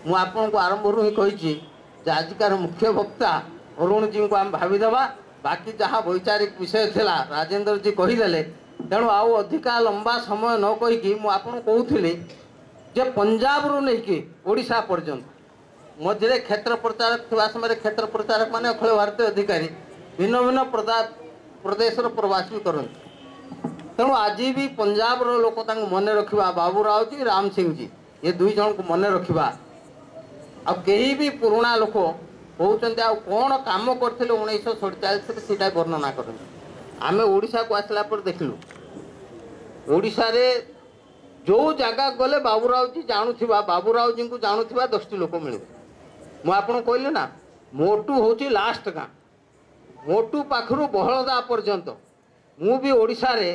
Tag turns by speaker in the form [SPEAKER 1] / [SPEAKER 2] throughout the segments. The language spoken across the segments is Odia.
[SPEAKER 1] ମୁଁ ଆପଣଙ୍କୁ ଆରମ୍ଭରୁ ହିଁ କହିଛି ଯେ ଆଜିକାର ମୁଖ୍ୟ ବକ୍ତା ଅରୁଣଜୀଙ୍କୁ ଆମେ ଭାବିଦେବା। ବାକି ଯାହା ବୈଚାରିକ ବିଷୟ ଥିଲା ରାଜେନ୍ଦ୍ରଜୀ କହିଦେଲେ। ତେଣୁ ଆଉ ଅଧିକା ଲମ୍ବା ସମୟ ନ କହିକି ମୁଁ ଆପଣଙ୍କୁ କହୁଥିଲି ଯେ ପଞ୍ଜାବରୁ ନେଇକି ଓଡ଼ିଶା ପର୍ଯ୍ୟନ୍ତ ମଝିରେ କ୍ଷେତ୍ର ପ୍ରଚାରକ ଥିବା ସମୟରେ କ୍ଷେତ୍ର ପ୍ରଚାରକ ମାନେ ଅଖିଳ ଭାରତୀୟ ଅଧିକାରୀ ଭିନ୍ନ ଭିନ୍ନ ପ୍ରଦେଶର ପ୍ରବାସ ବି କରନ୍ତି। ତେଣୁ ଆଜି ବି ପଞ୍ଜାବର ଲୋକ ତାଙ୍କୁ ମନେ ରଖିବା, ବାବୁରାଓଜୀ, ରାମ ସିଂଜୀ, ଏ ଦୁଇ ଜଣଙ୍କୁ ମନେ ରଖିବା। ଆଉ କେହି ବି ପୁରୁଣା ଲୋକ କହୁଛନ୍ତି ଆଉ କ'ଣ କାମ କରିଥିଲେ 1947ରେ ସେଇଟା ବର୍ଣ୍ଣନା କରନ୍ତି। ଆମେ ଓଡ଼ିଶାକୁ ଆସିଲା ପରେ ଦେଖିଲୁ ଓଡ଼ିଶାରେ ଯେଉଁ ଜାଗାକୁ ଗଲେ ବାବୁରାଓଜୀ ଜାଣୁଥିବା, ବାବୁରାଓଜୀଙ୍କୁ ଜାଣୁଥିବା 10ଟି ଲୋକ ମିଳିବେ। ମୁଁ ଆପଣଙ୍କୁ କହିଲି ନା, ମୋଟୁ ହେଉଛି ଲାଷ୍ଟ ଗାଁ, ମୋଟୁ ପାଖରୁ ବହଳଦା ପର୍ଯ୍ୟନ୍ତ। ମୁଁ ବି ଓଡ଼ିଶାରେ,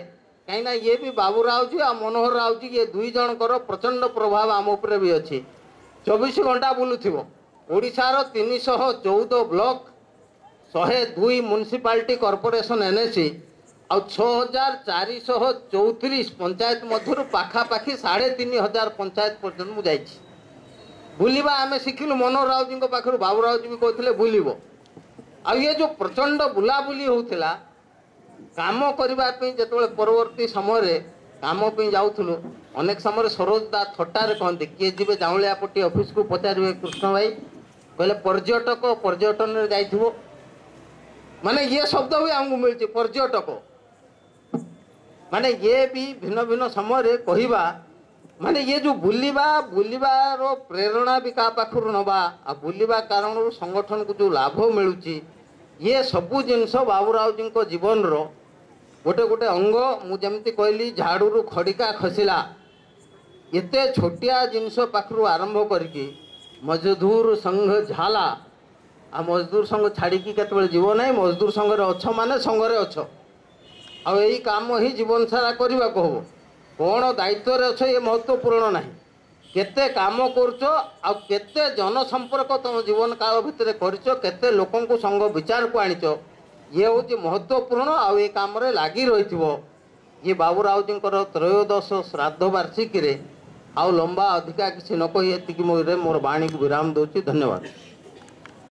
[SPEAKER 1] କାହିଁକିନା ଇଏ ବି ବାବୁରାଓଜୀ ଆଉ ମନୋହର ରାଓଜୀ, ଇଏ ଦୁଇ ଜଣଙ୍କର ପ୍ରଚଣ୍ଡ ପ୍ରଭାବ ଆମ ଉପରେ ବି ଅଛି। 24 ଘଣ୍ଟା ବୁଲୁଥିବ। ଓଡ଼ିଶାର 314 ବ୍ଲକ, 102 ମ୍ୟୁନିସିପାଲିଟି କର୍ପୋରେସନ୍ ଏନ୍ଏସି ଆଉ 6434 ପଞ୍ଚାୟତ ମଧ୍ୟରୁ ପାଖାପାଖି 3500 ପଞ୍ଚାୟତ ପର୍ଯ୍ୟନ୍ତ ମୁଁ ଯାଇଛି। ବୁଲିବା ଆମେ ଶିଖିଲୁ ମନୋହର ରାଓଜୀଙ୍କ ପାଖରୁ। ବାବୁରାଓଜୀ ବି କହୁଥିଲେ ବୁଲିବ। ଆଉ ଇଏ ଯେଉଁ ପ୍ରଚଣ୍ଡ ବୁଲାବୁଲି ହେଉଥିଲା କାମ କରିବା ପାଇଁ, ଯେତେବେଳେ ପରବର୍ତ୍ତୀ ସମୟରେ କାମ ପାଇଁ ଯାଉଥିଲୁ, ଅନେକ ସମୟରେ ସରୋଜ ଦା ଥଟ୍ଟାରେ କହନ୍ତି, କିଏ ଯିବେ ଜାଉଁଳିଆପଟି ଅଫିସକୁ ପଚାରିବେ କୃଷ୍ଣ ଭାଇ, କହିଲେ ପର୍ଯ୍ୟଟକ ପର୍ଯ୍ୟଟନରେ ଯାଇଥିବ, ମାନେ ଇଏ ଶବ୍ଦ ବି ଆମକୁ ମିଳୁଛି ପର୍ଯ୍ୟଟକ, ମାନେ ଇଏ ବି ଭିନ୍ନ ଭିନ୍ନ ସମୟରେ କହିବା, ମାନେ ଇଏ ଯେଉଁ ବୁଲିବା, ବୁଲିବାର ପ୍ରେରଣା ବି କାହା ପାଖରୁ ନେବା, ଆଉ ବୁଲିବା କାରଣରୁ ସଂଗଠନକୁ ଯେଉଁ ଲାଭ ମିଳୁଛି, ଇଏ ସବୁ ଜିନିଷ ବାବୁରାଓଜୀଙ୍କ ଜୀବନର ଗୋଟେ ଗୋଟେ ଅଙ୍ଗ। ମୁଁ ଯେମିତି କହିଲି ଝାଡ଼ୁରୁ ଖଡ଼ିକା ଖସିଲା, ଏତେ ଛୋଟିଆ ଜିନିଷ ପାଖରୁ ଆରମ୍ଭ କରିକି ମଜଦୁର ସଂଘ ଝାଲା, ଆଉ ମଜଦୁର ସଂଘ ଛାଡ଼ିକି କେତେବେଳେ ଯିବ ନାହିଁ। ମଜଦୁର ସଂଘରେ ଅଛ ମାନେ ସଂଘରେ ଅଛ, ଆଉ ଏଇ କାମ ହିଁ ଜୀବନ ସାରା କରିବାକୁ ହେବ। କ'ଣ ଦାୟିତ୍ୱରେ ଅଛ ଏ ମହତ୍ତ୍ୱପୂର୍ଣ୍ଣ ନାହିଁ, କେତେ କାମ କରୁଛ ଆଉ କେତେ ଜନସମ୍ପର୍କ ତୁମ ଜୀବନ କାଳ ଭିତରେ କରିଛ, କେତେ ଲୋକଙ୍କୁ ସଂଘ ବିଚାରକୁ ଆଣିଛ, ଇଏ ହେଉଛି ମହତ୍ତ୍ୱପୂର୍ଣ୍ଣ। ଆଉ ଏ କାମରେ ଲାଗି ରହିଥିବ। ଇଏ ବାବୁରାଓଜୀଙ୍କର ତ୍ରୟୋଦଶ ଶ୍ରାଦ୍ଧ ବାର୍ଷିକୀରେ ଆଉ ଲମ୍ବା ଅଧିକା କିଛି ନ କହି ଏତିକି ମୋର ବାଣୀକୁ ବିରାମ ଦେଉଛି। ଧନ୍ୟବାଦ।